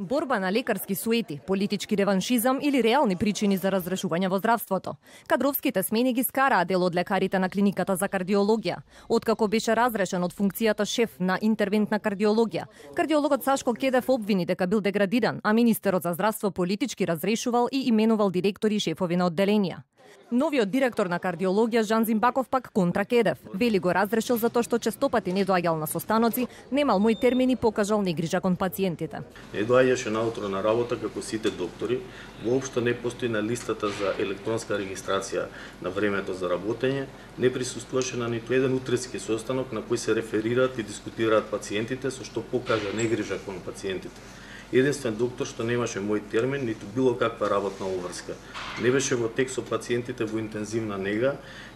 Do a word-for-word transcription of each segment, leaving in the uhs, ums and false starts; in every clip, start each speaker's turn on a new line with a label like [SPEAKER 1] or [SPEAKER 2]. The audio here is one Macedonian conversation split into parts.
[SPEAKER 1] Борба на лекарски суети, политички реваншизам или реални причини за разрешување во здравството. Кадровските смени ги скараа дел од лекарите на клиниката за кардиологија. Откако беше разрешен од функцијата шеф на интервентна кардиологија, кардиологот Сашко Кедев обвини дека бил деградиран, а министерот за здравство политички разрешувал и именувал директори и шефови на одделенија. Новиот директор на кардиологија Жан Зимбаков пак контра Кедев. Вели го разрешил затоа што честопати не доаѓал на состаноци, немал мој термини, покажал негрижа кон пациентите.
[SPEAKER 2] Не доаѓаше наутро на работа како сите доктори, воопшто не постои на листата за електронска регистрација на времето за работење, не присуствуваше на ниту еден утрински состанок на кој се реферираат и дискутираат пациентите, со што покажа негрижа кон пациентите. Единствен доктор што немаше мој термин, ниту било каква работна обврска. Не беше во тек со пациентите во интензивна нега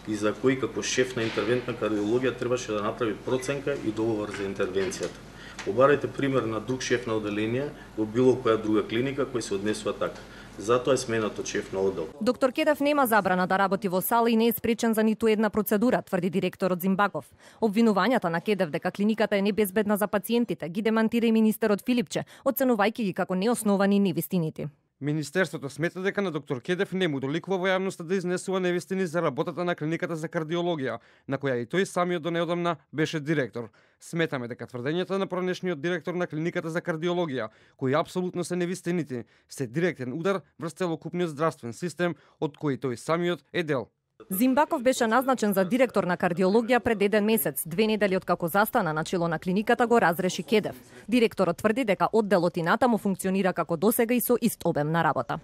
[SPEAKER 2] и за кој како шеф на интервентна кардиологија требаше да направи проценка и договор за интервенцијата. Побарајте пример на друг шеф на одделение во било која друга клиника кој се однесува така. Затоа е сменат од шеф на оддел.
[SPEAKER 1] Доктор Кедев нема забрана да работи во сала и не е спречен за ниту една процедура, тврди директорот Зимбаков. Обвинувањата на Кедев дека клиниката е небезбедна за пациентите ги демантира и министерот Филипче, оценувајќи ги како неосновани невистините.
[SPEAKER 3] Министерството смета дека на доктор Кедев не му доликува во јавноста да изнесува невистини за работата на клиниката за кардиологија, на која и тој самиот до неодамна беше директор. Сметаме дека тврдењата на пронешниот директор на клиниката за кардиологија, кои апсолутно се невистините, се директен удар врз целокупниот здравствен систем од кој тој самиот е дел.
[SPEAKER 1] Зимбаков беше назначен за директор на кардиологија пред еден месец. Две недели откако застана на чело на клиниката го разреши Кедев. Директорот тврди дека одделот и натаму функционира како досега и со ист обем на работа.